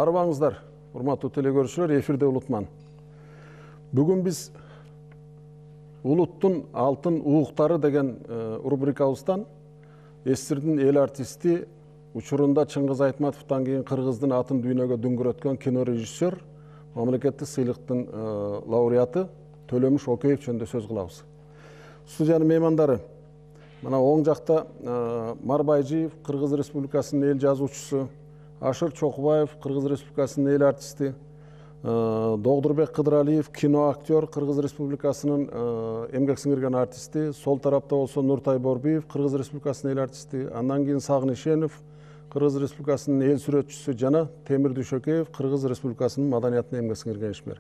Арыбаңыздар, урматтуу телекөрүүчүлөр, эфирде Улутман. Бүгүн биз Улуттун алтын ууктары деген рубрикабыздан СССРдин эл артисти, учурунда Чыңгыз Айтматовдон кийин кыргыздын атын дүйнөгө дүңгүрөткөн кинорежиссер, мамлекеттик сыйлыктын лауреаты Төлөмүш Океев жөнүндө сөз кылабыз. Студиянын меймандары мына оң жакта Марбайжиев, Кыргыз Республикасынын эл жазуучусу, Ашыр Чокубаев, Кыргыз Республикасынын эл артисти, Догдурбек Кыдыралиев, киноактер, Кыргыз Республикасынын эмгек сиңирген артисти, сол тарапта болсо Нуртай Борбиев, Кыргыз Республикасынын эл артисти, андан кийин Сагын Ишенов, Кыргыз Республикасынын эл сүрөтчүсү жана Темир Дүйшөкеев, Кыргыз Республикасынын маданиятына эмгек сиңирген ишмер.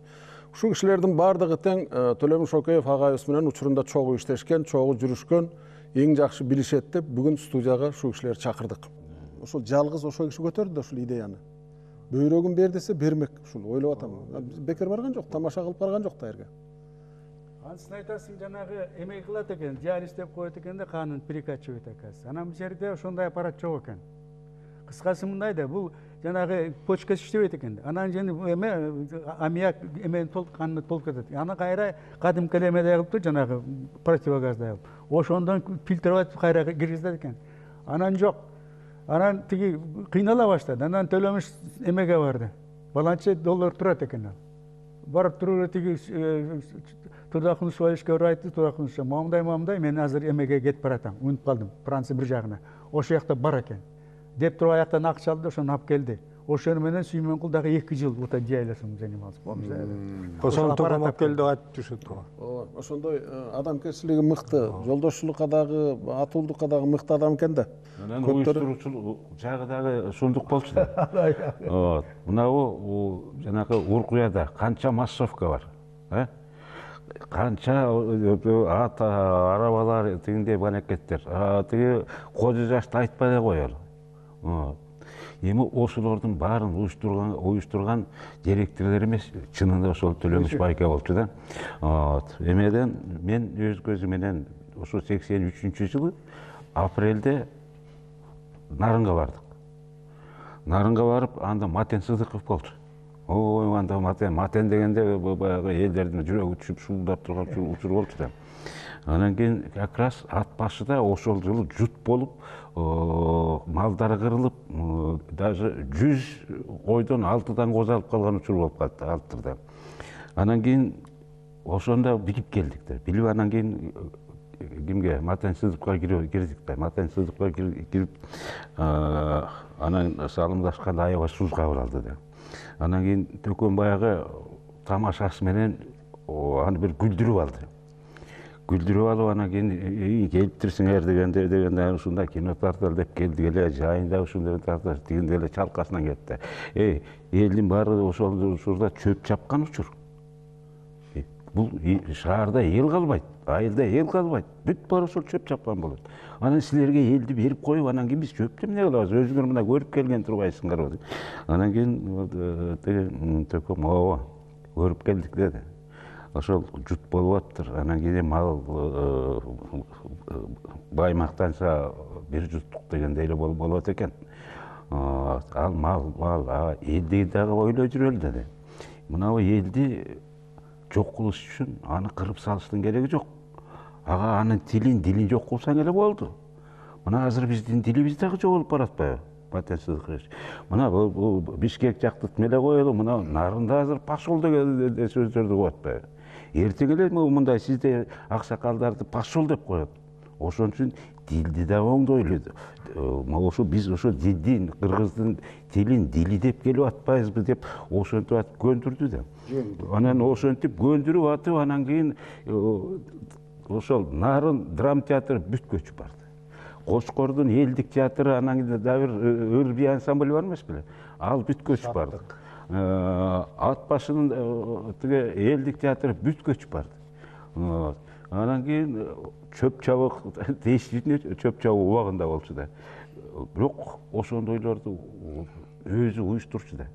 Ушул кишилердин баардыгы тең Төлөмүш Океев агайыбыз менен учурунда чогуу иштешкен, чогуу жүрүшкөн, эң жакшы билишет деп бүгүн студияга ушул кишилерди чакырдык. Ошол жалгыз ошол киши көтөрдү да ушул идеяны. Бөйрөгүн бер десе бермек, ушул ойлоп атам. Бекер барган жок, тамаша кылып барган жок да эрге. Анысын айтасың, жанагы эмек кылат экен, диализ деп коет экен да, канын прикачивает экен. Анан бул жерде ошондой аппарат жок экен. Кыскасы мындай да, бул жанагы почкасы иштебейт экен. Анан жана эме аммиак эмени канды толуп кетет. Аны кайра кадимки эмедей кылып, жанагы противогаздай кылып, ошондон фильтровать кайра киргизет экен. Анан жок. Анан тиги кыйнала баштады. Анан Төлөмүш эмеге барды. Баланча доллар турат экен ал. Барып туруп тиги Турдакун Суалишке айтты, Турдакун мамдай, мен азыр эмеге кетип баратам. Унутуп калдым, Франция бир жагына. Ошол жакта бар экен. Деп туруп аяктан акча алды, ошону алып келди. Ошону менен Сүймөнкул дагы 2 жыл ута диализом занимался. Ошону токомап келди, айтып түшөт. Ооба, ошондой адамгерчилиги мыкты, жолдошчулукка дагы, атуулдукка дагы мыкты адам экен да. Анан уюштуруучулук жагы дагы ушундук болчу да. Вот. Мынабу жанагы Уркуяда канча массовка бар, канча ат арабалар, тигиндей банекеттер. Тиги кожо жашты айтпай эле коелу. Эми ошолордун баарын уюштурган директорлор эмес, чынында ошол Төлөмүш байке болчу да. Эмеден мен өз көзүм менен ошо 83-жылы апрелде Нарынга бардык. Нарынга барып, анда Матен Сыдыков болчу. Ой, анда Матен дегенде баягы элдердин жүрөгү түшүп шуулдап турган учур болчу да. Анан кийин как раз ат башыда ошол жылы жут болуп, малдары кырылып, даже 100 койдон 6дан коз алып калган учур болуп калды Алтырда. Анан кийин ошондо билип келдик да. Билип анан кийин кимге? Матен Сыдыковго кирдик да. Матен Сыдыковго кирип, анан салымдашканда аябай суз кабыл алды да. Анан кийин Төкөн баягы тамашасы менен аны бир күлдүрүп алды. Күлдүрүп алып, анан кийин келиптирсиңер дегенде ушундай кино тарталы деп келди эле, жайында ушундай тарталы тигинде эле чалкасынан кетти. Элдин баары ошол учурда чөп чапкан учур. Бул шаарда эл калбайт, айылда эл калбайт. Бүт баары ошол чөп чапкан болот. Анан силерге элди берип коюп, анан кийин биз чөптү эмне кылабыз? Өзүңөр мына көрүп келген турбайсыңарбы? Анан кийин Төкөм ооба көрүп келдик деди. Ошол жут болуп атыптыр. Анан кийин мал баймактанса бир жуттук дегендей эле болот экен. Ал мал, элди дагы ойлой жүрөлү деди. Мынабу элди жок кылыш үчүн аны кырып салыштын кереги жок. Ага анын дилин жок кылсаң эле болду. Мына азыр биздин дилибиз дагы жоголуп баратпайбы? Матен Сыдыкович. Мына бул Бишкек жакты эле коелу, мына Нарында азыр пошол деген сөздөрдү коп атпайбы? Эртең эле мындай сизде аксакалдарды пошол деп коет. Ошон үчүн дилди да оңдойлу. Ошо биз ошо дилдин, кыргыздын тилин дили деп келип атпайбызбы деп ошентип атып көндүрдү да. Анан ошентип көндүрүп атып, анан кийин ошол Нарын драм театры бүткөчү барды. Кошкордун элдик театры, анан да бир ыр-би ансамбль бар эмес беле? Ал бүткөчү барды. Ат башынын тиги элдик театры бүткөчү барды. Анан кийин чөп чабык дейишти, чөп чабык убагында болчу да. Бирок ошондойлорду өзү уюштурчу да.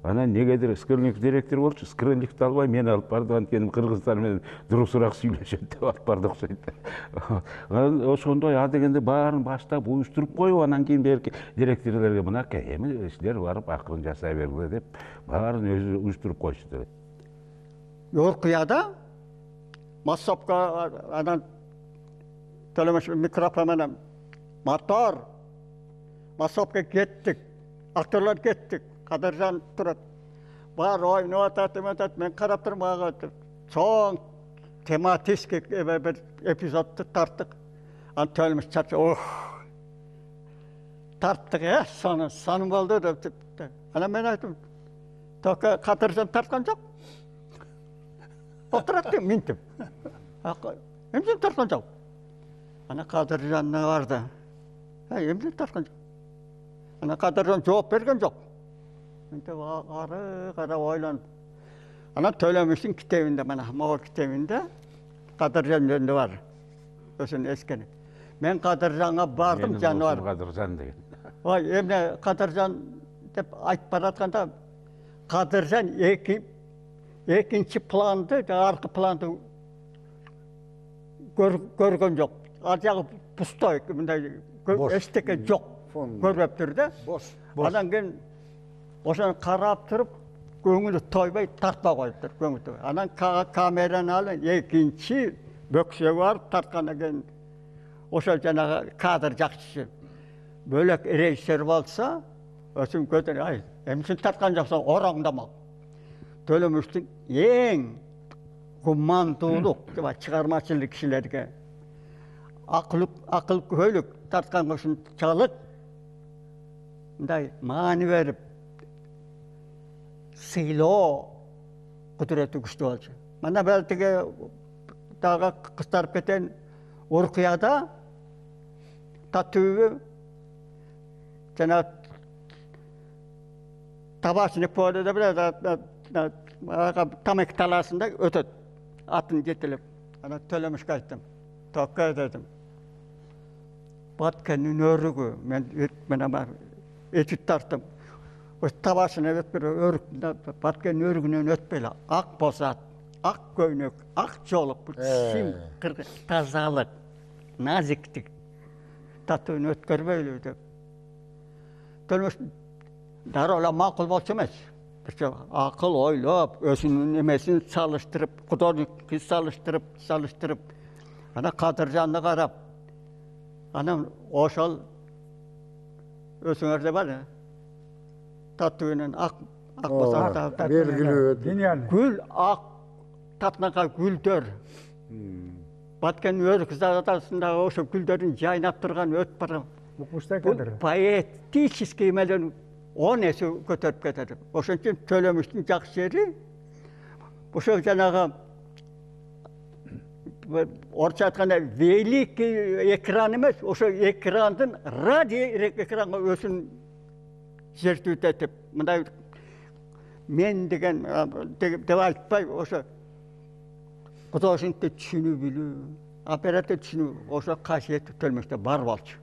Анан негедир скрининг директор болчу, скринингди албай мени алып барды, анткени кыргыздар менен дурусураак сүйлөшөт деп алып барды окшойт. Анан ошондой дегенде баарын баштап уюштуруп коюп, анан кийин берки директорлорго мынакей эми силер барып акырын жасай бергиле деп баарын өзү уюштуруп коюшту. Оркуяда массовка анан төлөмөш микрофон менен мотор массовка кеттик, актерлар кеттик, Кадыржан турат. Бар ойноп атат, мен карап турмага чоң тематический бир эпизодду тарттык. Анан төлөмөш чарчап, тарттык, сонун болду деп. Анан мен айттым, тока Кадыржан тарткан жок. Отурат деп минтип. Эмне тарткан жок? Ана Кадыржанна барды. Эмне тарткан жок? Ана Кадыржан жооп берген жок. Минтип ары карап ойлонуп. Анан Төлөмүштүн китебинде, мына могу китебинде Кадыржан жөнүндө бар. Өзүн эскени. Мен Кадыржанга бардым, жаныбар. Кадыржан деген. Ой, эмне Кадыржан деп айтып баратканда Кадыржан экинчи планды, аркы планды көргөн жок. Ал жагы пустой, мындай эчтеке жок. Көрүп тур да. Анан кийин ошону карап туруп, көңүлү тойбой тартпай коюптур, көңүлү тойбой. Анан камераны алып, экинчи бөксөгө барып тарткандан кийин ошо жанагы кадр жакчысы бөлөк режиссер болсо, өзүн көтөрүп, эмне тарткан жоксоң, ороңдомо. Төлөмүштүн эң гумандуулук, чыгармачылык кишилерге акыл көйлүк тарткан ушунчалык мындай маани берип сыйлоо кудурети күчтүү болчу. Мына белтиги дагы кыстарып кетен Уркуяда татууы жана табачник поледе билет, тамек талаасында өтөт. Атын жетелеп, ана Төлөмүшкө айттым. Тока дедим. Баткенин өрүгү, мен этюд тарттым. Ошо табашына өтпөй, баткенин өрүгүнөн өтпөйлө, ак босат, ак көйнөк, ак жоолук, сим, тазалык, назиктик, татууну өткөрбөйлү деп. Төлөмүш дароо эле макул болчу эмес. Акыл ойлоп, өзүнүн эмесин салыштырып, художникти салыштырып, ана Кадыржанды карап, анан ошол өзүңөрдө бар, татууунун ак босат, белгилүү, гениальный. гүл ак татнага гүлдөр. Баткен өрүк задасындагы ошо гүлдөрдүн жайнап турган өтүп бара. Укмуштай кадыр. Поэтический менен 10 эсе көтөрүп кетет. Ошон үчүн Төлөмүштүн жакшы жери ошо жанагы орча айтканда великий экран эмес, ошо экрандын радио экранга өзүн жертвить этип, мындай мен деген деп айтпай, ошо художникти түшүнүү билүү, оператор түшүнүү, ошо касиети Төлөмүштө бар болчу.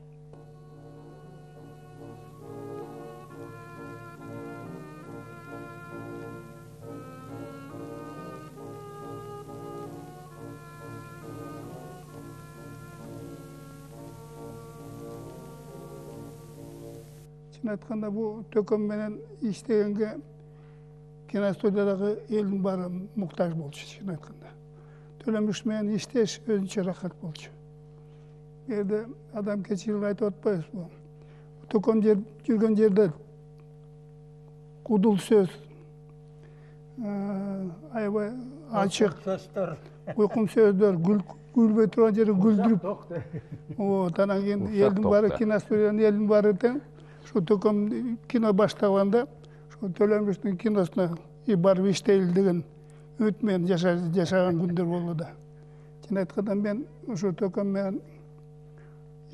Айтканда бул төкөм менен иштегенге киностудиядагы элдин баары муктаж болчу, чын айтканда. Төлөмүш менен иштеш өзүнчө рахат болчу. Жерде адам кечирилип айтып атпайбызбы? Төкөм жүргөн жерде кудул сөз, аябай ачык уйкум сөздөр, гүлбөй турган жерде гүлдүрүп, анан кийин элдин баары, киностудиянын элдин баары тең. Şu töküm kino başlaganda şu Төлөмүштүн киносуна барып иштейли деген үмүт менен жашаган күндөр болду да. Чын айтканда мен ошо төкөм менен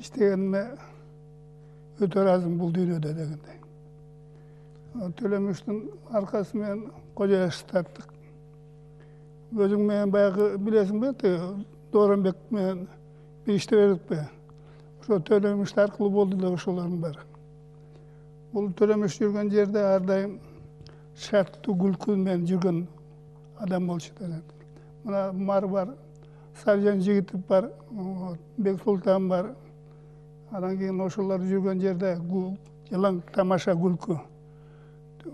иштегениме өтө ыраазымын бул дүйнөдө дегендей. Төлөмүштүн аркасы менен кожо жаш тарттык. Өзүң менен баягы билесиңби, Дооронбек менен бир иштеп бердикпи? Ошо Төлөмүш аркылуу болду да ошолордун баары. Бул Төлөмүш жүргөн жерде ар дайым шарттуу күлкү менен жүргөн адам болчу да. Мына Мар бар, Саржан Жигитов бар, Бексултан бар. Анан кийин ошолор жүргөн жерде жылаң тамаша күлкү.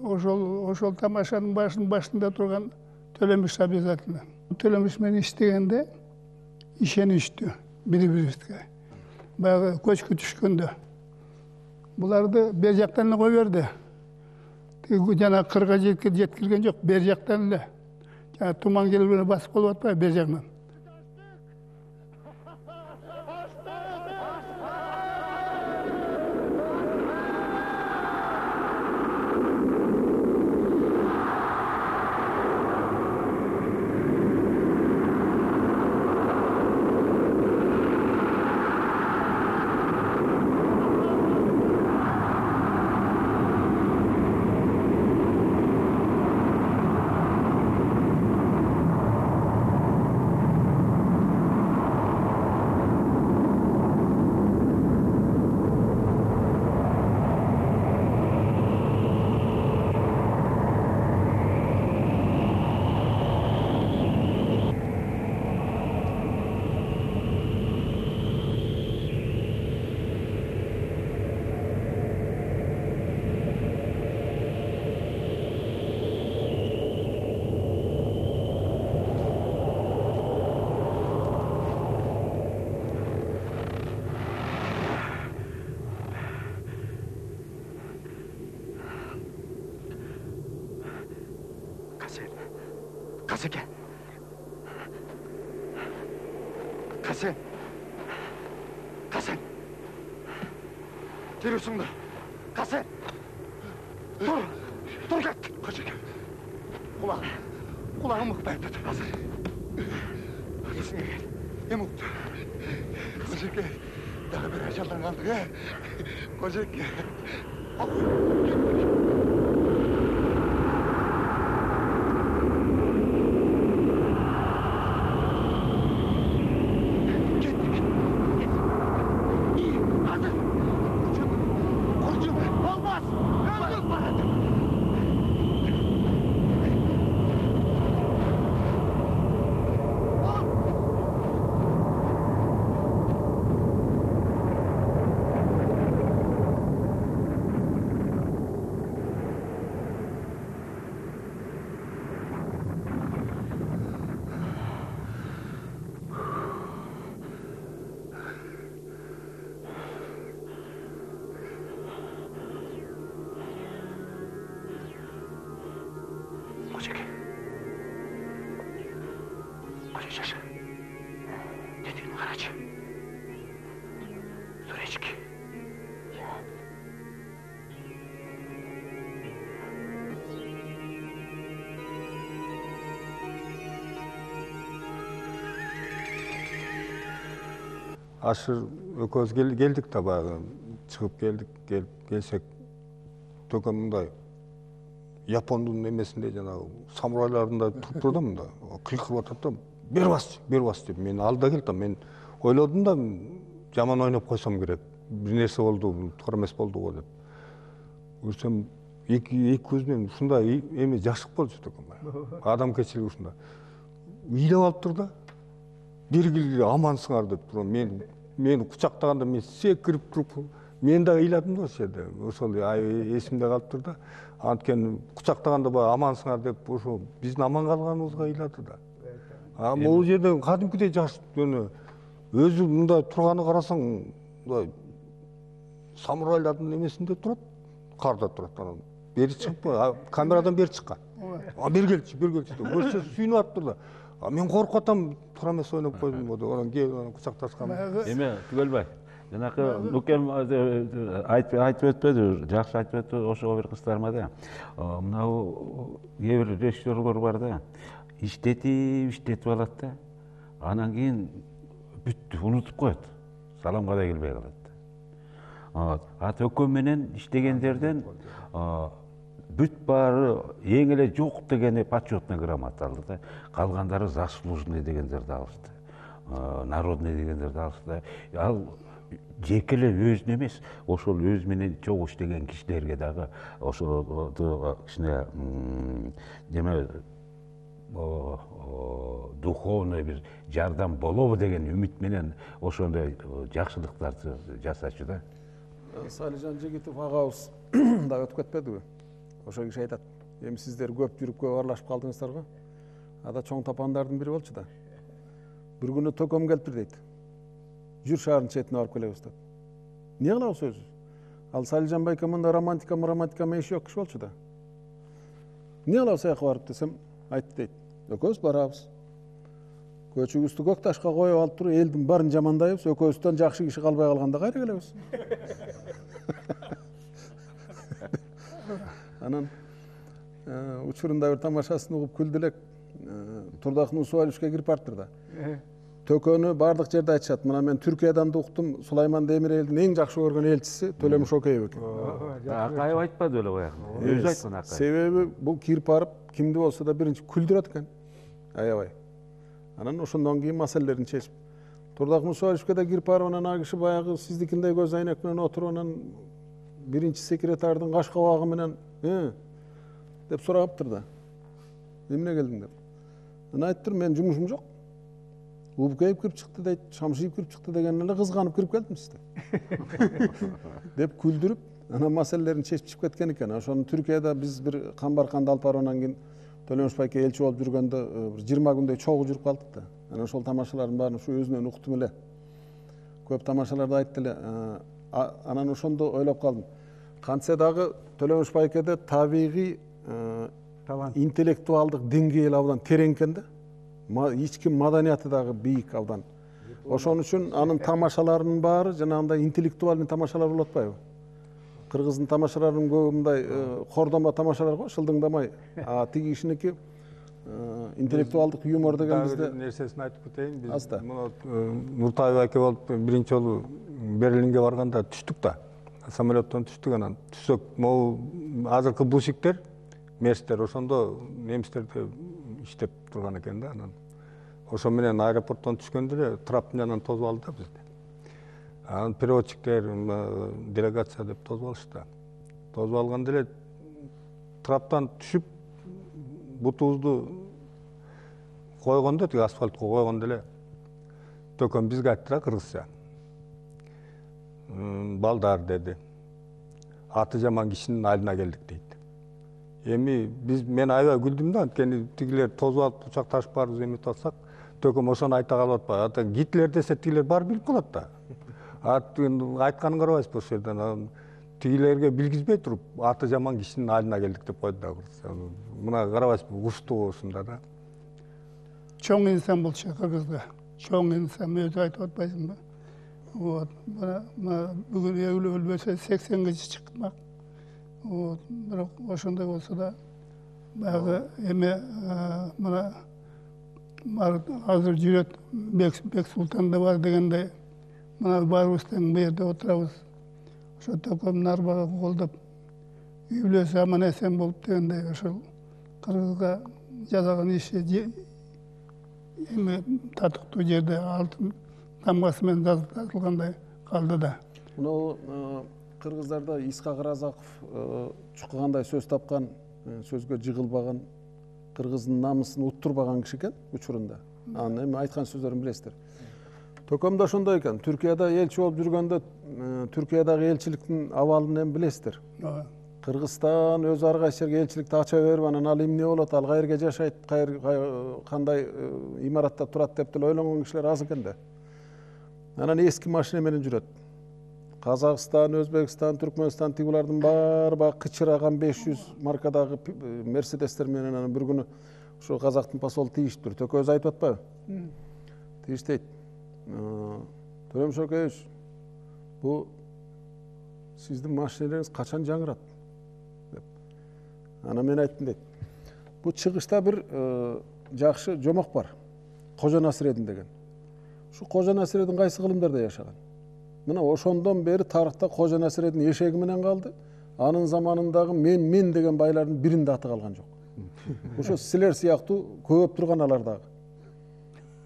Ошол тамашанын башында турган Төлөмүш обязательно. Төлөмүш менен иштегенде ишеничтүү бири-бирибизге. Баягы көчкү түшкөндө. Буларды бер жактан эле кой берди. Жана кырга жеткирген жок, бер жактан эле. Жана туман келип басып калып атпайбы бер жагынан. Kaseke. Kasen. Kasen. Geliyorsun da. Kasen. Dur. Dur gel. Kaseke. Kulağım mıkmayıp dedi. Kasen. Esine gel. Yamuktu. Kaseke. Daha bir aşağıdan kaldık ha. Kaseke. Kocak. Kocak şaşı. Dediğin haraç. Süreçki. Ашыр экөөбүз келдик да баягы чыгып келсек төкөн мындай Япондун эмесинде жанагы самурайларында туруп да мында кыйкырып атат да бер бас деп мени алда кел да мен ойлодум да жаман ойноп койсом керек бир нерсе болду туура эмес болду го деп көрсөм эки көз менен ушундай эме жашык болчу төкөн адамгерчилик ушундай ыйлап алыптыр да бергиле амансыңар деп туруп мени кучактаганда мен секирип туруп мен да ыйладым да ошол жерде ошол эсимде калыптыр да анткени кучактаганда баягы амансыңар деп ошо биздин аман калганыбызга ыйлады да могул жерде кадимкидей жаш жөнү өзү мындай турганы карасаң мындай самурайлардын эмесинде турат карда турат анан бери чыгып камерадан бери чыккан бери келчи деп көрсө сүйүнүп атыптыр да мен коркуп атам туура эмес ойноп койдум го деп анан келип кучакташкан эме Түгөлбай жанакы Нукем айтып өтпөдү, жакшы айтып өтпөдү ошого бир кыстарма да. Мынау кээ бир режиссерлор бар да, иштетип алат да. Анан кийин бүттү, унутуп коет. Саламга да келбей калат. Төкөн менен иштегендерден бүт баары эң эле жок дегени почетный грамота алды да. Калгандары заслуженный дегендерди алышты. Народный дегендерди алышты. Ал жеке эле өзүнө эмес, ошол өзү менен чогуу иштеген кишилерге дагы ошол кичине деме духовный бир жардам болобу деген үмүт менен ошондой жакшылыктарды жасачу да. Салижан Жигитов агабыз да өтүп кетпедиби? Ошол киши айтат, эми сиздер көп жүрүп көп аралашып калдыңыздар го. Ада чоң тапандардын бири болчу да. Bir günü tököm gelip deydi. Jür şaharın çetine varıp kelebиз dedi. Niye kıla o sözü? Al Salihcan Baykam'ın romantika işi yok kişi olçu da. Niye kıla o sayakı varıp desem, aytты deydi. Ököz barabız. Көчүгүздү көк ташка коюп алып туруп элдин баарын жамандайбыз, экөөбүздөн жакшы киши калбай калганда кайра келебиз. Анан учурунда бир тамашасын угуп күлдү элек. Турдак Мусуалевичке кирип барыптыр да. Төкөнү баардык жерде айтышат. Мына мен Түркиядан да уктум, Сулайман Демирелдин эң жакшы көргөн элчиси Төлөмүш Океев экен. Акаев айтпады эле баягы. Өзү айткан Акаев. Себеби бул кирип барып, кимди болсо да биринчи күлдүрөт экен. Аябай. Анан ошондон кийин маселелерин чечип. Турдак Мусуалевичке да кирип барып, анан а киши баягы сиздикиндей көз айнек менен отуруп, анан биринчи секретардын каш кабагы менен деп сурапtır да. Эмне келдиң деп. Анан айттыр, мен жумушум жок. Убкейип кирип чыкты дейт, Шамшиев кирип чыкты деген эле кызганып кирип келдим сизде. Деп күлдүрүп, анан маселелерин чечип кеткен экен. Ошону Түркияда биз бир Камбарканды алып баргандан кийин Төлөмүш байке элчи болуп жүргөндө 20 күндөй чогуу жүрүп калдык да. Анан ошол тамашалардын баарын ушу өзүнөн уктум эле. Көп тамашаларды айтты эле. Анан ошондо ойлоп калдым. Кантсе дагы Төлөмүш байкеде табигый интеллектуалдык деңгээли абдан терең экен да. Ички маданияты дагы бийик абдан. Ошон үчүн анын тамашаларынын баары жанагындай интеллектуальный тамашалар болуп атпайбы? Кыргыздын тамашаларынын көбү мындай кордомо тамашалар го, шылдыңдамай. Тиги кишиники интеллектуалдык юмор деген бизде нерсесин айтып кетейин. Биз муну Нуртаев байке болуп биринчи жолу Берлинге барганда түштүк да. Самолеттон түштүк, анан түшсөк, могу азыркы бусиктер, мерстер ошондо немистерде иштеп турган экен да. Анан ошо менен аэропорттон түшкөндө эле траптын жанынан тосуп алды да бизди. Анан переводчиктер, делегация деп тосуп алышты. Тосуп алганда эле траптан түшүп бутубузду койгондо, тиги асфальтка койгондо эле төкөн бизге айтты да кыргызча. Балдар деди. Аты жаман кишинин айылына келдик дейт. Эми мен аябай күлдүм да, анткени тигилер тосуп алып учак ташып барыбыз эметип атсак, төкөм ошону айта калып атпайбы? Ата Гитлер десе тигилер баары билип калат да. Айтканын карабайсызбы ошол жерден? Тигилерге билгизбей туруп, аты жаман кишинин айылына келдик деп койду да. Мына карабайсызбы, устуу ушунда да. Чоң инсан болчу Кыргызда. Чоң инсан, өзү айтып атпайсыңбы? Вот, бүгүн өлбөсө 80-ге чыкмак. Вот, бирок ошондой болсо да баягы эме мына азыр жүрөт Бек Султан да бар дегендей, мына баарыбыз тең бу жерде отурабыз. Ошо төкөмдүн арбага колдоп үй бүлөсү аман эсен болуп дегендей, ошол Кыргызга жасаган иши эми татыктуу жерде алтын тамгасы менен жазылгандай калды да. Мына кыргыздарда Исхак Разаков чуккандай сөз тапкан, сөзгө жыгылбаган, кыргыздын намысын уттурбаган киши экен учурунда. Анын эми айткан сөздөрүн билесиздер. Төкөм да ошондой экен. Түркияда элчи болуп жүргөндө Түркиядагы элчиликтин абалын эми билесиздер. Кыргызстан өзү ар кайсы жерге элчиликти ача берип, анан ал эмне болот, ал каерге жашайт, кандай имаратта турат деп деле ойлонгон кишилер аз экен да. Анан эски машина менен жүрөт. Казакстан, Өзбекстан, Түркмөнстан тигулардын баары баягы кычыраган 500 маркадагы Мерседестер менен анан бир күнү ошо казактын посолу тийиштир. Төкөз айтып атпайбы? Тийиштейт. Төлөмүш Океевич, бу сиздин машиналарыңыз качан жаңырат? Деп. Анан мен айттым дейт. Бу чыгышта бир жакшы жомок бар. Кожо Насиредин деген. Şu Кожо Насиредин кайсы кылымдарда жашаган? Мына ошондон бери тарыхта Кожо Насиредин эшеги менен калды. Анын заманындагы мен деген байлардын биринде аты калган жок. Ошо силер сыяктуу көп турган алар дагы.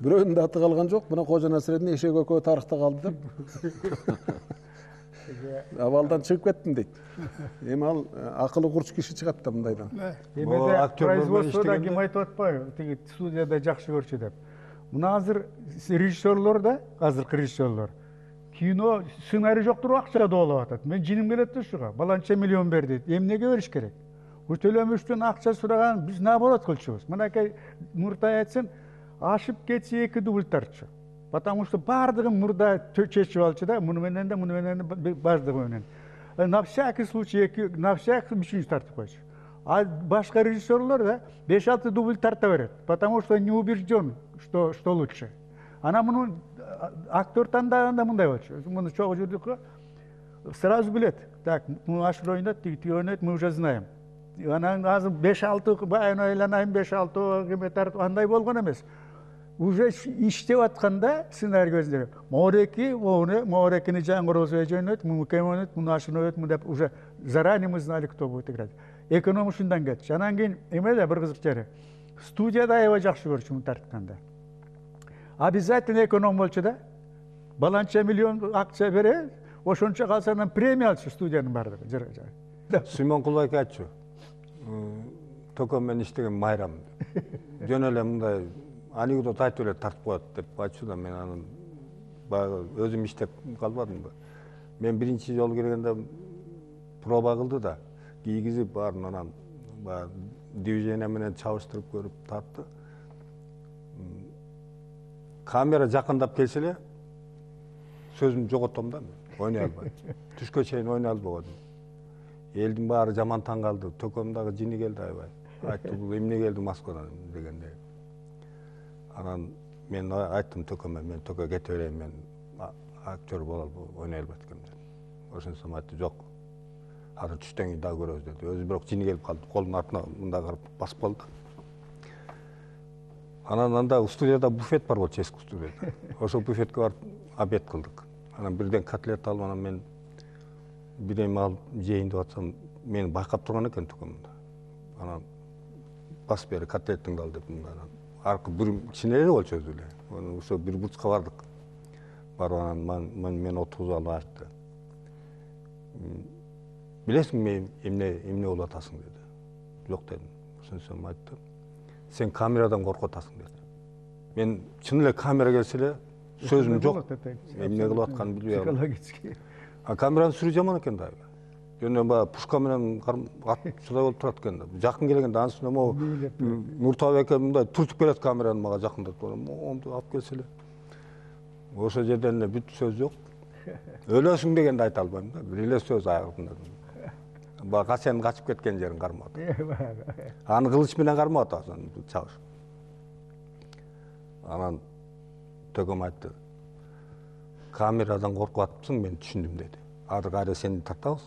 бирөөнүн да аты калган жок. Мына Кожо Насиреддин эшек экөө тарыхта калды деп. Абалдан чыгып кеттим дейт. Эми ал акылы курч киши чыгат да мындайдан. Эмеде производстводо ким айтып атпайбы, тиги студияда жакшы көрчү деп. Мына азыр режиссерлор да, азыркы режиссерлор кино сценарий жоктур, акчага доолоп атат. Мен жиним келет да ушуга. Баланча миллион бер дейт. Эмнеге бериш керек? Төлөмүштөн акча сураган биз наоборот кылчубуз. Мынакей Нуртай айтсын, ашып кетсе 2 дубль тартчу. Потому что бардыгын мурда чечип алчу да, муну менен бардыгы менен. На всякий случай, на всякий 3 тартып койчу. А башка режиссерлор да 5-6 дубль тарта берет, потому что не убежден, что лучше. Ана муну актер тандаганда мындай болчу. Муну чогуу жүрдүк, сразу билет. Так, муну ашыр ойнойт, тиги ойнойт, мы уже знаем. Анан азыр 5-6 байын ойланайын, 5-6 кеме тартып андай болгон эмес. Уже иштеп атканда сценарий көздөп, Моорекини жаңгыроосу ойнойт, муну кем ойнойт, муну ашыр ойнойт, муну деп уже заранее мы знали, кто будет играть. Эконом ушундан кетчү. Анан кийин эме да бир кызык жери. Студияда аябай жакшы көрчү муну тартканда. Обязательно эконом болчу да. Баланча миллион акция бере, ошончо калса анан премия алчу студиянын бардыгы. Сүймөн Кулбайке айтчу. Током менен иштеген майрам. Жөн эле мындай анекдот айтып эле тартып коет деп айтчу да, мен анын баягы өзүм иштеп калбадымбы. Мен биринчи жолу келгенде проба кылды да, кийгизип баарын анан баягы движение менен чабыштырып көрүп тартты. Камера жакындап келсе эле сөзүмдү жоготом да, ойной албайм. Түшкө чейин ойной албай койдум. Элдин баары жаман таң калды. Токомдагы жини келди аябай. Айтты, бул эмне келди Москвадан дегенде. Анан мен айттым Токомо, мен Токко кете берейин, мен актер боло ойной албайт экенмин дедим. Ошентсем айтты, жок. Азыр түштөн кийин дагы көрөбүз деди. Өзү бирок жини келип калды, колунун артына мындай карап басып калды. Анан анда студияда буфет бар болчу, эски студияда. Ошол буфетке барып обед кылдык. Анан бирден котлет алып, анан мен бирем алып жейин деп атсам, мени байкап турган экен Токомдо. Анан бас бери котлетиңди ал деп, анан аркы бир кичине эле болчу өзү эле. Ошо бир бурчка бардык. Барып анан мен отургузуп алып айтты. Билесиңби эмне болуп атасың деди. Жок дедим. Ошентсем айтты. Сен камерадан коркуп атасың деди. Мен чын эле камера келсе эле сөзүм жок. Эмне кылып атканын билбей алам. Психологически. А камеранын сүрү жаман экен да. Жөн баягы пушка менен атчудай болуп турат экен да. Жакын келгенде анын үстүнө могу Нуртай эке мындай түртүп келет камераны мага жакындатып, монду алып келсе эле. Ошол жерден эле бүт сөз жок. Өлөсүң дегенди айта албайм да. Бир эле сөз айрылганда. Баягы Касенин качып кеткен жерин кармап атат. Аны кылыч менен кармап атат, чабыш. Анан Током айтты. Камерадан коркуп атыпсың, мен түшүндүм деди. Азыр кайра сени тартабыз.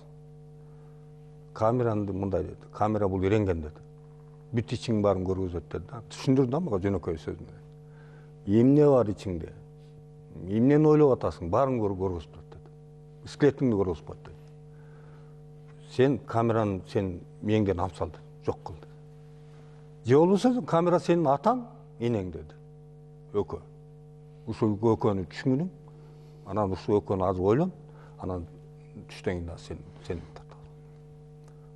Камераны мындай деди. Камера бул иренген деди. Бүт ичиң баарын көргөзөт деди. Түшүндүр да мага жөнөкөй сөз менен. Эмне бар ичиңде? Эмнени ойлоп атасың? Баарын көргөзүп турат деди. Скелетиңди көргөзүп коет деди. Сен камераны сен мээңден алып сал деди. Жок кыл деди. Же болбосо камера сенин атаң, энең деди. Өкө. Ушул өкөнү түшүнүң. Анан ушул өкөнү азыр ойлон. Анан түштөн кийин сен тартабыз.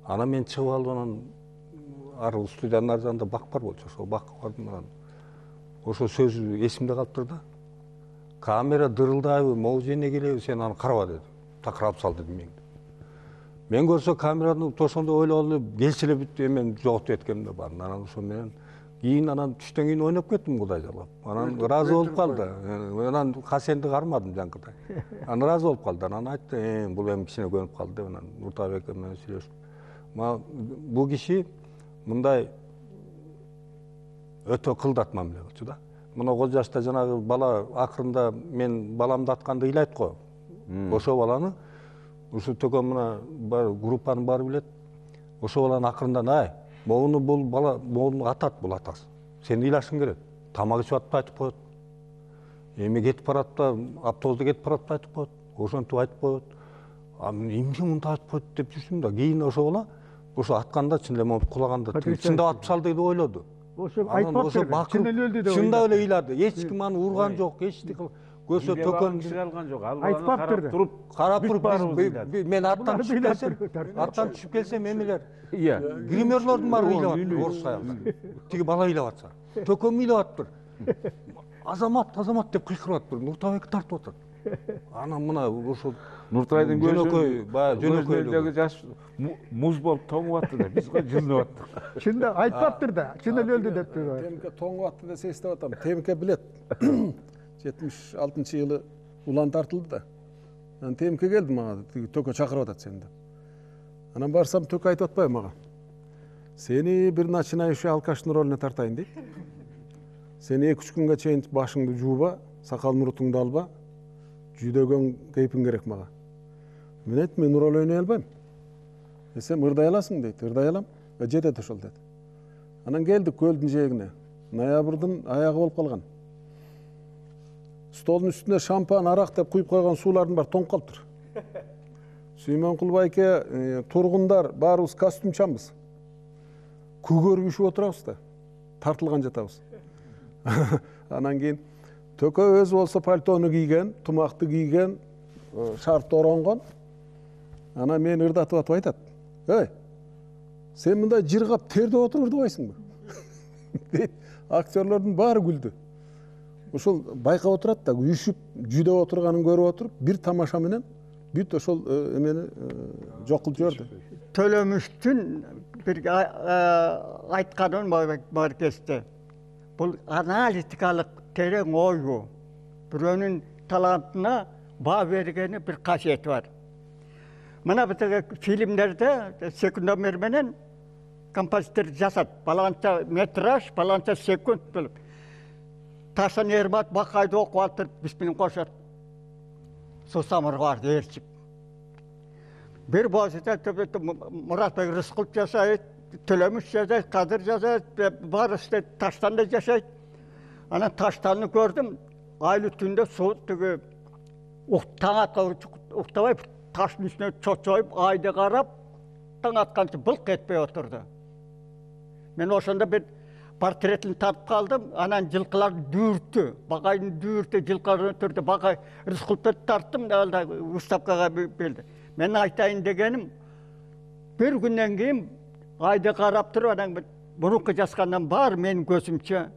Анан мен чыгып алып анан ар студиянын ар жагында бак бар болчу. Ошол бакка бардым анан. Ошол сөз эсимде калыптыр да. Камера дырылдайбы, могу жерине келеби, сен аны караба деди. Такыр алып сал деди меңди. Мен көрсө камераны ошондой ойлоп алып, келсе эле бүт эмен жоготуп эткем да бар. Анан ошо менен кийин анан түштөн кийин ойноп кеттим Кудай жалап. Анан ыраазы болуп калды. Анан Касенди кармадым жанкыдай. Анан ыраазы болуп калды. Анан айтты, бул эми кичине көнүп калды деп анан Нуртай эке менен сүйлөшүп. Бул киши мындай өтө кылдат мамиле кылчу да. Мына кол жашта жанагы бала акырында мен баламды атканда ыйлайт го. Ошо баланы ушу Током мына группанын баары билет. Ошо баланы акырындан ай, могуну бул бала могуну атат, бул атасы. Сен ыйлашың керек. Тамак ичип атып айтып коет. Эми кетип барат да, автобуста кетип барат да айтып коет. Ошентип айтып коет. Эмне мындай айтып коет деп жүрсүм да. Кийин ошо бала ошо атканда чын эле момунтип кулаганда чындап атып салды деп ойлоду. ошо Анан айтпаптыр. ошо бакып Чын эле өлдү деп. чындап эле ыйлады. Эч ким аны урган жок, эчтик көсө төкөн алган жок. Ал Айтпаптыр карап туруп, карап туруп барыбыз мен арттан Буларды түшүп келсем, ыйлап арттан түшүп келсем эмелер Иә. гримерлордун баары ыйлап атты орус аягында. Тиги бала ыйлап атса. Төкөм ыйлап атыптыр. Азамат деп кыйкырып атыптыр. Нуртабек тартып атат. Анан мына ошол Нуртайдын жөнөкөй, баягы жөнөкөйлүгү жаш муз болуп тоңуп атты да. Биз го жылынып аттык. Чында айтпаптыр да. Чын эле өлдү дептир. Темке тоңуп атты десе эстеп атам. Темке билет. 76-жылы улан тартылды да. Анан Темке келди мага, төкө чакырып атат сени деп. Анан барсам төкө айтып атпайбы мага. Сени бир начинающий алкаштын ролуна тартайын дейт. Сен 2-3 күнгө чейин башыңды жууба, сакал мурутуңду алба, жүдөгөн кейпиң керек мага. Мен айттым, мен роль ойной албайм. Десем, ырдай аласың дейт, ырдай алам. Жетет ошол деді. Анан келдик көлдүн жээгине. Ноябрдын аягы болуп калган. Столдун үстүнө шампан, арак деп куюп койгон суулардын баары тоңуп калыптыр. Сүймөнкул байке, тургундар баарыбыз костюмчанбыз. Көгөрүп отурабыз да. Тартылган жатабыз. Анан кийин төкө өзү болсо пальтону кийген, тумакты кийген, шарфты оронгон. Анан мени ырдатып атып айтат. Эй, сен мындай жыргап терде отуруп ырдабайсыңбы? Дейт. Актерлордун баары күлдү. Ошол байкап отурат да, үйшүп, жүдөп отурганын көрүп отуруп, бир тамаша менен бүт ошол эмени жок кылып жиберди. Төлөмүштүн бир айтканын бар кезде. Бул аналитикалык терең ою, бирөөнүн талантына баа бергени бир касиети бар. Мына битеге фильмдерде секундомер менен композитор жасат. Баланча метраж, баланча секунд болуп. Ташан Эрмат Бакайды окуп атып, биз менен кошот. Сусамыр бар ээрчип. Бир бозита Муратбек Рыскулов жасайт, Төлөмүш жасайт, Кадыр жасайт, баарысы Таштанда жашайт. Анан Таштанды көрдүм, айлы түндө суу тиги таң аткан уктабай таштын үстүнө чочоюп, айды карап, таң атканча былк этпей отурду. Мен ошондо бир портретин тартып калдым, анан жылкылар дүүртү, Бакайдын дүүртү, жылкылар түрдө Бакай Рыскуловду тарттым, алда выставкага берди. Мен айтайын дегеним, бир күндөн кийин айды карап туруп, анан мурунку жазгандан баары менин көзүмчө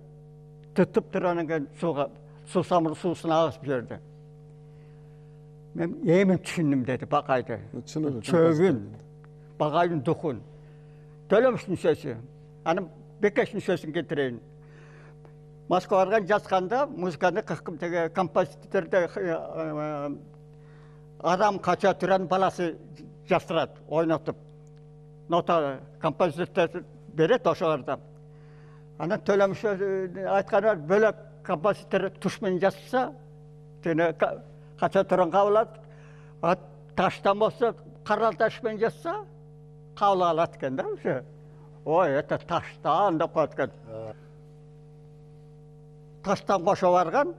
тытып туруп, анан суусамыр суусуна агызып жиберди. Мен эмин түшүндүм деди Бакайды. Чөбүн, Бакайдын духун. Төлөмүштүн сөзү. Анан Бекештин сөзүн кетирейин. Москвага жазганда музыканы композиторду Адам Качатуран баласы жастырат, ойнотуп. Нота композитор берет ошолордо. Анан Төлөмүш айтканы бөлөк композитор туш менен жазса, тени Качатуран кабыл алат. Таштан болсо, карал таш менен жазса, кабыл алат экен да ошо. Ой, это Таштан деп коет экен. Таштан кошо барган.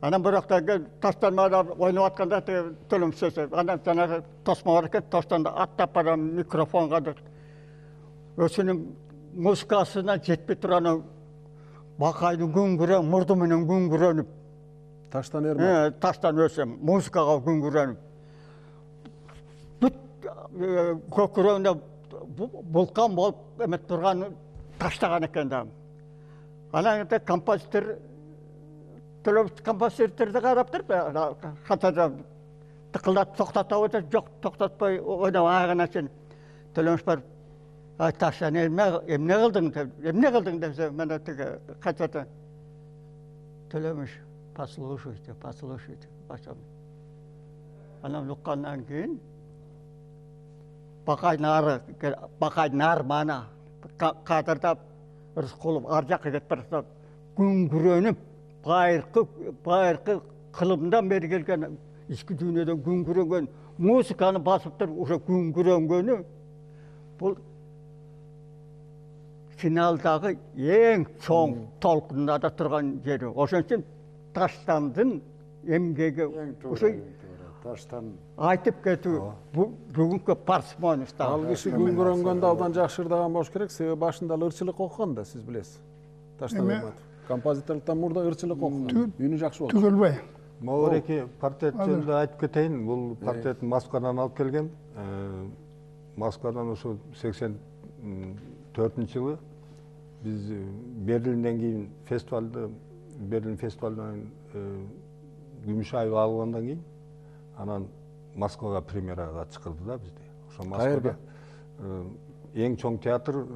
Анан бирокта Таштан менен ойноп атканда Төлөмүш анан жанагы тосмо бар экен, Таштанда аттап барам микрофонго деп. Өзүнүн музыкасына жетпей турган Бакайдын күңгүрө мурду менен күңгүрөнүп. Таштан Эрмат. Таштан өсөм, музыкага күңгүрөнүп. Бүт көкүрөгүндө вулкан болуп эмет турган таштаган экен да. Анан композитор Төлөмүш композиторду карап туруп, кантада тыкылдатып токтотоп атат, жок токтотпой ойнобаган экен. Төлөмүш бар, ай Таштан эмне кылдың десе, мен тиги кантада Төлөмүш послушайте. Анан уккандан кийин Бакайдын арманы Кадырда Рыскулов ар жакка кетип барса, күңгүрөнүп, байыркы кылымдан бери келген, ички дүйнөдөн күңгүрөнгөн, музыканы басып туруп, ошо күңгүрөнгөнү бул финалдагы эң чоң толкундада турган жери. Ошон үчүн Таштандын эмгеги ошо таштан айтып кетүү бүгүнкү парсмонистер. Ал киши күңгөрөнгөндө абдан жакшы ырдаган болуш керек, себеби башында эле ырчылык окуган да, сиз билесиз. Таштан Айтматов. Композиторлуктан мурда ырчылык окуган. Үнү жакшы болчу. Түгөлбай. Могуреки портрет жөнүндө айтып кетейин. Бул портрет Москвадан алып келгем. Москвадан ошо 84-жылы биз Берлинден кийин Берлин фестивалынан күмүш айыл алгандан кийин анан Москвага премьерага чыгарды да бизде. Ошо Москвада эң чоң театр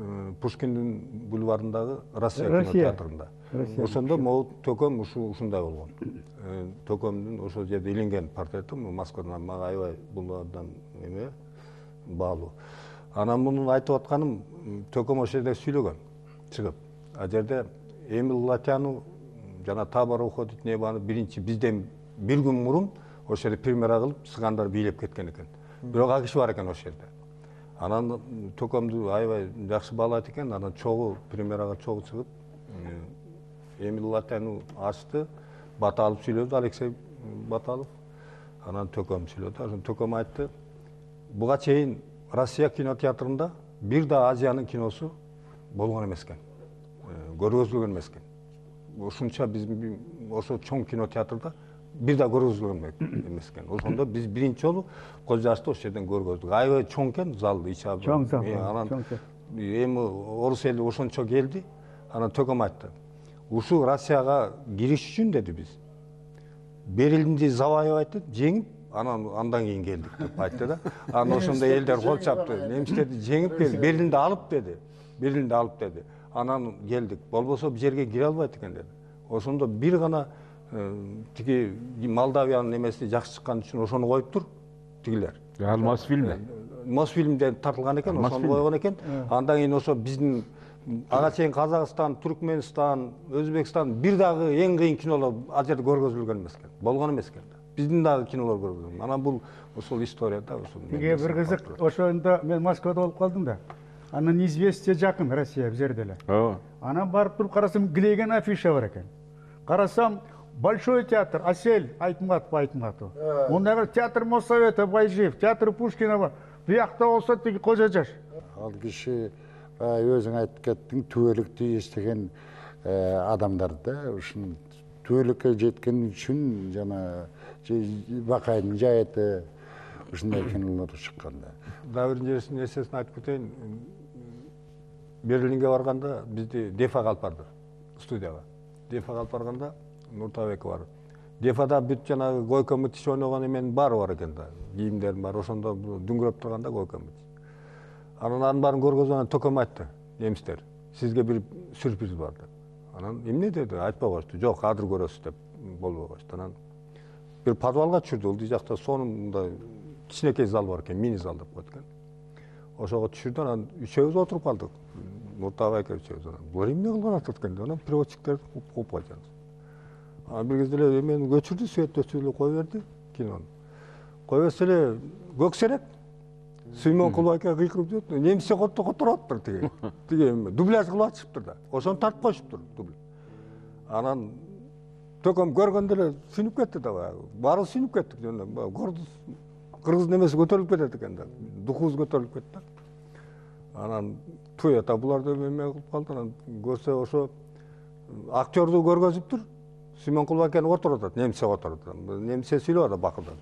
Пушкиндин бульварындагы Россия кинотеатрында. Ошондо могу төкөм ушундай болгон. Төкөмдүн ошол жерде илинген портрети Москвадан мага аябай бул абдан баалуу. Анан муну айтып атканым төкөм ошол жерде сүйлөгөн чыгып. А жерде Эмил Латяну жана Табар уходит небаны биринчи бизден бир күн мурун ошол жерде премьера кылып сыгандар бийлеп кеткен экен. Бирок ал киши бар экен ошол жерде. Анан төкөмдү аябай жакшы баалайт экен. Анан чогуу премьерага чогуу чыгып Эмил Латяну ачты, Баталов сүйлөдү, Алексей Баталов. Анан төкөм сүйлөдү. Анан төкөм айтты: "Буга чейин Россия кинотеатрында бир да Азиянын киносу болгон эмес экен. Көргөзүлгөн эмес экен. Ушунча биз ошо чоң кинотеатрда бир да көргөзүлгөн эмес экен. Ошондо биз биринчи жолу Көл Жашты ошол жерден көргөздүк. Аябай чоң экен зал, ич абдан. Чоң зал. Анан эми орус эли ошончо келди. Анан төкөм айтты: "Ушу Россияга кириш үчүн деди биз Берлинди завоевать этип, жеңип, андан кийин келдик" деп айтты да. Анан ошондо элдер кол чапты. Немистерди жеңип келди, Берлинди алып деди. Берлинди алып деди. Анан келдик. Болбосо бул жерге кире албайт экен деди. Ошондо бир гана тиги Молдавиянын эмеси жакшы чыккан үчүн ошону коюптур тигилер. Ал Мосфильм. Мосфильмден тартылган экен, ошону койгон экен. Андан кийин ошо биздин ага чейин Казакстан, Түркмөнстан, Өзбекстан бир дагы эң кыйын кинолор ал жерде көргөзүлгөн эмес экен. Болгон эмес экен. Биздин дагы кинолор көргөзүлгөн. Анан бул ошол историяда ошол. Тиги бир кызык, ошондо мен Москвада болуп калдым да. Анан известие жакын Россия бул жерде эле. Анан барып туруп карасам, килеген афиша бар экен. Карасам, Большой театр, Асель Айтматов. Ондагы театр Моссовета Байжиев, театр Пушкина бар. Буякта болсо тиги Кожа Жаш. ал киши өзүң айтып кеттиң, түбөлүктү эстеген адамдар да, ушун түбөлүккө жеткен үчүн жана Бакайдын жайыты ушундай кинолор чыккан да. Дагы бир нерсесин айтып кетейин. Берлинге барганда бизди Дефага алып барды студияга. Дефага алып барганда Нуртабек бар. Дефада бүт жанагы Гойко Мытич ойногон эменин баары бар экен да. Кийимдердин баары ошондо дүңгүрөп турганда Гойко Мытич. Анан анын баарын көргөзгөндөн төкөм айтты, немистер, сизге бир сюрприз бар деп. Анан эмне деди, айтпай коюшту. Жок, азыр көрөсүз деп болбой коюшту. Анан бир подвалга түшүрдү. Ал жакта сонундай кичинекей зал бар экен, мини зал деп коет экен. Ошого түшүрдү, анан үчөөбүз отуруп калдык. Нуртабек үчөөбүз. Булар эмне кылган атат экен деп. Анан переводчиктер кууп койгонбуз. Анан бир кезде эле эмени көчүрдү, свет эле кой берди кинону. Кой берсе эле көксерек Сүймөн Кулбайка кыйкырып жүрөт. Немисче которуп атыптыр тиги. Тиги дубляж кылып атышыптыр да. Ошону тартып коюшуптур дубляж. Анан төкөм көргөндө эле сүйүнүп кетти да. Баары сүйүнүп кеттик жөнүндө. Кыргыздын эмеси көтөрүлүп кетет экен да. Духубуз көтөрүлүп кетти. Анан туята буларды эме кылып калды. Анан көрсө ошо актёрду көргөзүптүр. Сүймөн Кулбайканы которуп атат, немисче которуп атат. Немисче сүйлөп атат бакылдап.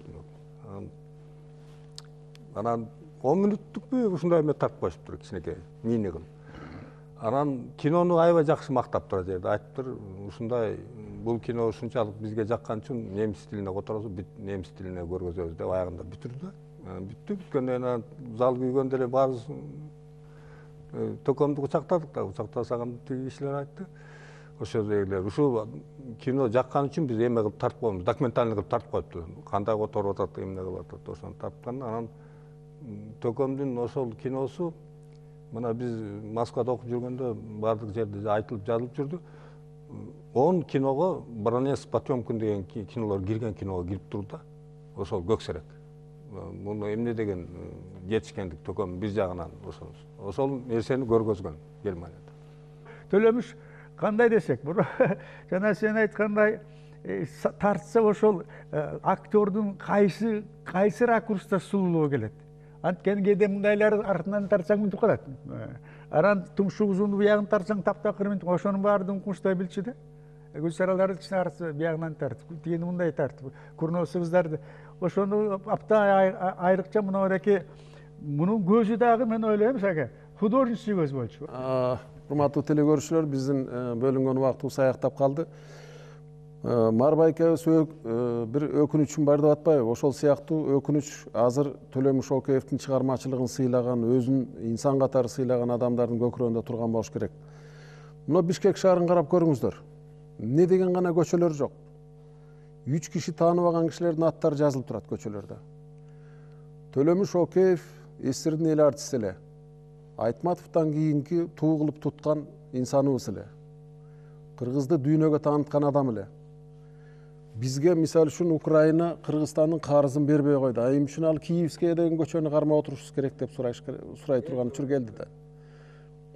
Анан 10 мүнөттүкпү ушундай эме тартып коюшуптур кичинекей мини кылып. Анан кинону аябай жакшы мактаптыр жерде. Айтыптыр, ушундай бул кино ушунчалык бизге жаккан үчүн немис тилине которосуз, немис тилине көргөзөбүз деп аягында бүтүрдү да. Бүттү, бүткөндөн кийин зал күйгөндө эле баарыбыз төкөмдү кучактадык да, кучактасаган тиги кишилер айтты. Ошол жерлер, ушул кино жаккан үчүн биз эме кылып тартып коебуз, документальный кылып тартып коюпту. Кандай которуп атат, эмне кылып атат, ошону тартканда анан төкөмдүн ошол киносу мына биз Москвада окуп жүргөндө бардык жерде айтылып жазылып жүрдү. 10 киного Бронец Потёмкин деген кинолор кирген киного кирип турду да. Ошол көксерек. Муну эмне деген жетишкендик төкөм бир жагынан ошол нерсени көргөзгөн Германияда. Төлөмүш кандай десек, жана сен айткандай тартса ошол актердун кайсы ракурста сулуулугу келет. Анткени кээде мындайлар артынан тартсаң мынтип калат. Анан тумшук узунду биягын тартсаң таптакыр мынтип, ошонун баардыгын укмуштай билчү да. Гүлсараларды чыгарса биягынан тарт, тигини мындай тарт, курносу кыздарды. Ошону апта айрыкча мына эреки мунун көзү дагы мен ойлойм сага художественный көз болчу. Урматтуу телекөрүүчүлөр, биздин бөлүнгөн убактыбыз аяктап калды. Марбай экебиз бир өкүнүчүм бар деп атпайбы? Ошол сыяктуу өкүнүч азыр Төлөмүш Океевдин чыгармачылыгын сыйлаган, өзүн инсан катары сыйлаган адамдардын көкүрөгүндө турган болуш керек. Мына Бишкек шаарын карап көрүңүздөр. Не деген гана көчөлөр жок. 3 киши тааныбаган кишилердин аттары жазылып турат көчөлөрдө. Төлөмүш Океев СССРдин эл артисти эле. Айтматовдон кийинки туу кылып туткан инсаныбыз эле. Кыргызды дүйнөгө тааныткан адам эле. Бизге мисалы үчүн Украина Кыргызстандын карызын бербей койду. Эмне үчүн ал Киевская деген көчөнү кармап отурушубуз керек деп сурай турган учур келди да.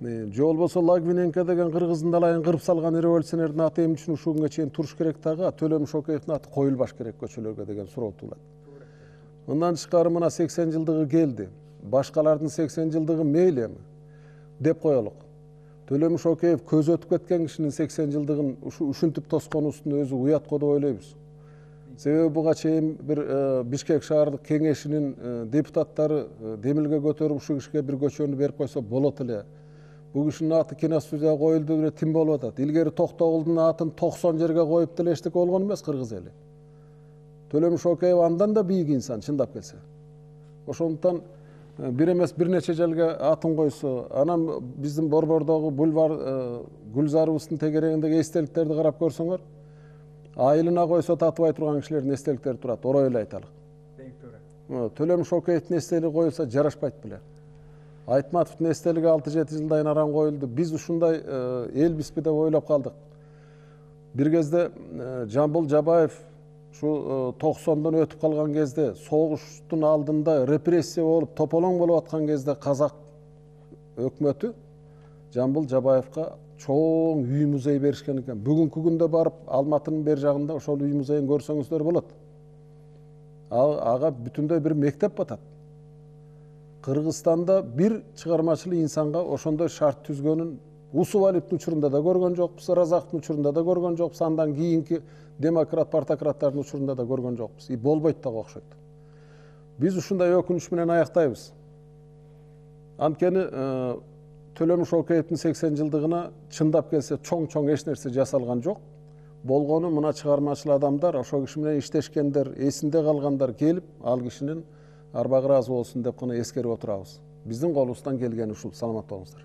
Же болбосо Лагвиненко деген кыргыздын далайын кырып салган революционердин аты эмне үчүн ушул күнгө чейин туруш керек дагы, Төлөмүш Океевдин аты коюлбаш керек көчөлөргө деген суроо туулат. Мындан тышкары мына 80 жылдыгы келди. Башкалардын 80 жылдыгы мейли эми деп коелук. Төлөмүш Океев көз өтүп кеткен кишинин 80 жылдыгын ушинтип тосконубуздун өзү уят го деп ойлойбуз. Себеби буга чейин бир Бишкек шаардык кеңешинин депутаттары демилге көтөрүп ушул кишиге бир көчөнү берип койсо болот эле. Бул кишинин аты киностудияга коюлду деп тим болуп атат. Илгери Токтогулдун атын 90 жерге коюп деле эчтеке болгон эмес кыргыз эли. Төлөмүш Океев андан да бийик инсан чындап келсе. Ошондуктан бир эмес бир нече жерге атын койсо, анан биздин Борбордогу бульвар гүлзарыбыздын тегерегиндеги эстеликтерди карап көрсөңөр, айылына койсо татыбай турган кишилердин эстеликтери турат, орой эле айталык. Төлөмүш Океевдин эстелиги коюлса жарашпайт беле. Айтматовдун эстелиги 6-7 жылдан аран коюлду. Биз ушундай элбизби деп ойлоп калдык. Бир кезде Жамбыл Жабаев ушу 90дон өтүп калган кезде, согуштун алдында репрессия болуп, тополоң болуп аткан кезде казак өкмөтү Жамбыл Жабаевка чоң үй музей беришкен экен. Бүгүнкү күндө барып Алматынын бер жагында ошол үй музейин көрсөңүздөр болот. Ага бүтүндөй бир мектеп батат. Кыргызстанда бир чыгармачыл инсанга ошондой шарт түзгөнүн Усубалиевдин учурунда да көргөн жокпуз, Разаковдун учурунда да көргөн жокпуз, андан кийинки демократ, партократтардын учурунда да көргөн жокпуз. И болбойт дагы окшойт. Биз ушундай өкүнүч менен аяктайбыз. Анткени Төлөмүш Океевдин 80 жылдыгына чындап келсе чоң эч нерсе жасалган жок. Болгону мына чыгармачыл адамдар, ошол киши менен иштешкендер, эсинде калгандар келип, ал кишинин арбагы ыраазы болсун деп гана эскерип отурабыз. Биздин колубуздан келгени ушул. Саламат болуңуздар.